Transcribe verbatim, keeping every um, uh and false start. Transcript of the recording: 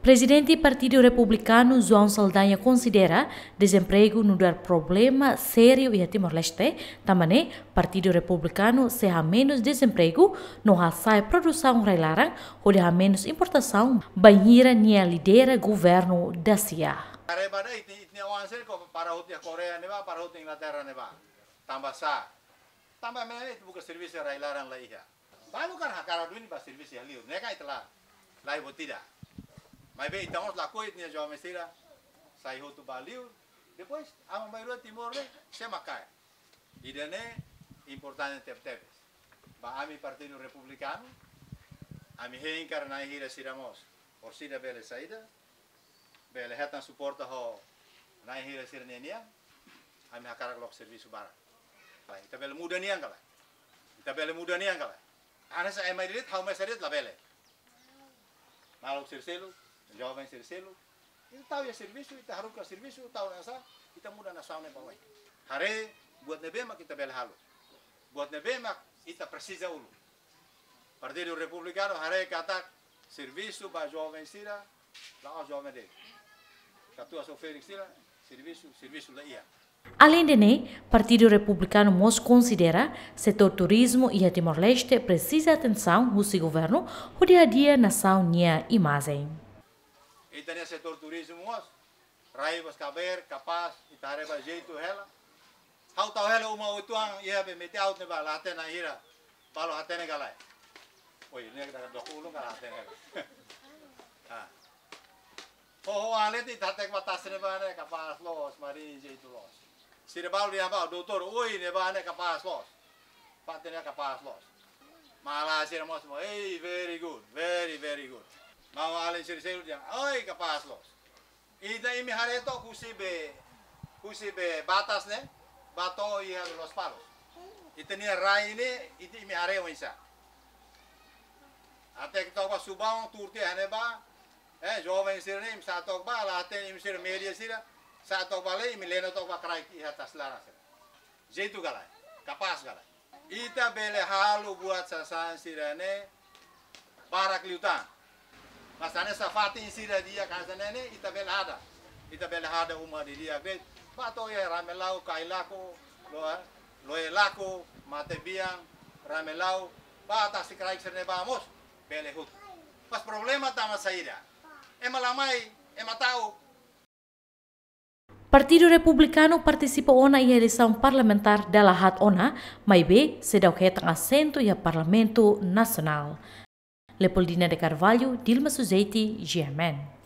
Prezidente Partidu Republikanu João Saldanha konsidera dezempregu nu'udar problema sériu iha Timor-Leste, tanba ne'e Partidu Republikanu sei hamenus dezempregu no hasa'e produsaun rai-laran hodi hamenus importasaun bainhira nia lidera governu dasia. Kareba dai, ita, ita-nia oan sira ko para hotu iha Koreia ne'ebá, para hotu Inglaterra ne'ebá. Tanba sá? Tanba ema ne'e ita buka servisu rai-laran la iha. Balu kan hakarak duni bá servisu iha liur, ne'e kan ita la, la iha buat ida. Maibé ita mós lakohi ita-nia joven sira sai hotu bá liur, depois aban-bainrua Timor ne'e sei mak kaer. Ida-ne'e importante tebetebes. Ba ami Partidu Republikanu, ami hein karik na'in hira sira mós, orsida bele saida, bele hetan suporta ho na'in hira sira-nia nian, ami hakarak loke servisu barak. Ita bele muda nian ka lae? Ita bele muda nian ka lae? Hanesan ema de'it, ha'u mesak de'it labele. Maluk sira seluk, joven sira seluk, ita tau iha servisu, ita haruka servisu, tau nasa, ita muda nasaun ne'e ba oin. Haree buat ne'ebé mak ita bele halo. Buat ne'ebé mak ita presiza uluk. Partidu Republikanu haree katak servisu ba joven sira, la'ós joven de'it. Katuas ho ferik sira, servisu, servisu la iha. Aleinde ne'e, Partidu Republikanu mós konsidera setór turizmu iha Timor-Leste presiza atensaun husi governu hodi hadi'a nasaun nia imajen. Ita-nia setór turizmu mós, rai bos kaber, kapás, ita haree ba jeitu hela. Ha'u tau hela uma uitoan iha be mete aut ne'ebá, la hatene hira, balu hatene ka lae? Oi, ne'e ita dook ulun ka la hatene hela. Ah. Ho, ho, alete ita hateke ba tasi ne'ebá ne'e kapás loos, marin jeitu loos. Sira balu dehan ba doutór, oi, ne'ebá ne'e kapás loos. Fatin ne'e kapás loos. Malae sira mós, ei, very good, very, very good. Maun-alin sira seluk dehan, oi, kapás loos. Ita imi haree took husi be, husi be Batas ne'e, bá to'o iha Lospalos. Ita-nia rai ne'e, ita imi haree oinsá. Hateke took ba Subaun, tuur tiha ne'ebá, eh, joven sira ne'e, imi sa'e took ba, la hatene imi sira media sira, sa'e took ba lai, imi leno took ba kraik iha tasi laran sira. Jeitu ka lae? Kapás ka lae? Ita bele halo buat sasán sira-ne'e barak liután. Mas hanesan fatin sira di'ak hanesan ne'e ne'e, ita bele hada. Ita bele hada uma di'ak de'it. Bá to'o iha Ramelau, Kailaku, Loe, Loelaku, Matebian, Ramelau, bá tasi kraik sira-ne'e bá mós bele hotu. Mas problema tanba saida? Ema la mai, ema ta'uk. Partidu Republikanu partisipa ona iha eleisaun parlamentár dala haat ona, maibé seidauk hetan asentu iha Parlamentu Nasionál. Leopoldina de Carvalho, Dilma Suzeti, G M N.